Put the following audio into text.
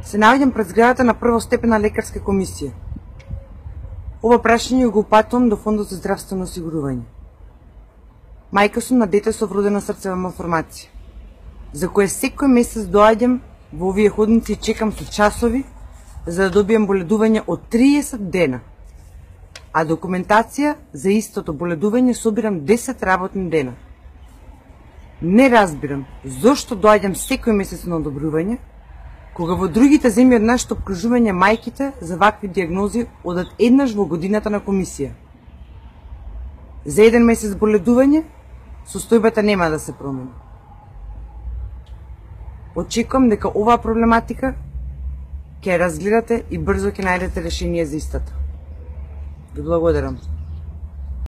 Се наоѓам пред зградата на првостепена лекарска комисија. Ова прашање го упатувам до Фондот за здравствено осигурување. Мајка сум на дете со вродена срцева малформација, за кое секој месец доаѓам во овие ходници и чекам со часови за да добијам боледување од 30 дена, а документација за истото боледување собирам 10 работни дена. Не разбирам зошто доаѓам секој месец на одобрување, кога во другите земји од нашето обкружување мајките за вакви диагнози одат еднаш во годината на комисија. За еден месец боледување, состојбата нема да се промени. Очекувам дека оваа проблематика ќе ја разгледате и брзо ќе најдете решение за истата. Ви благодарам.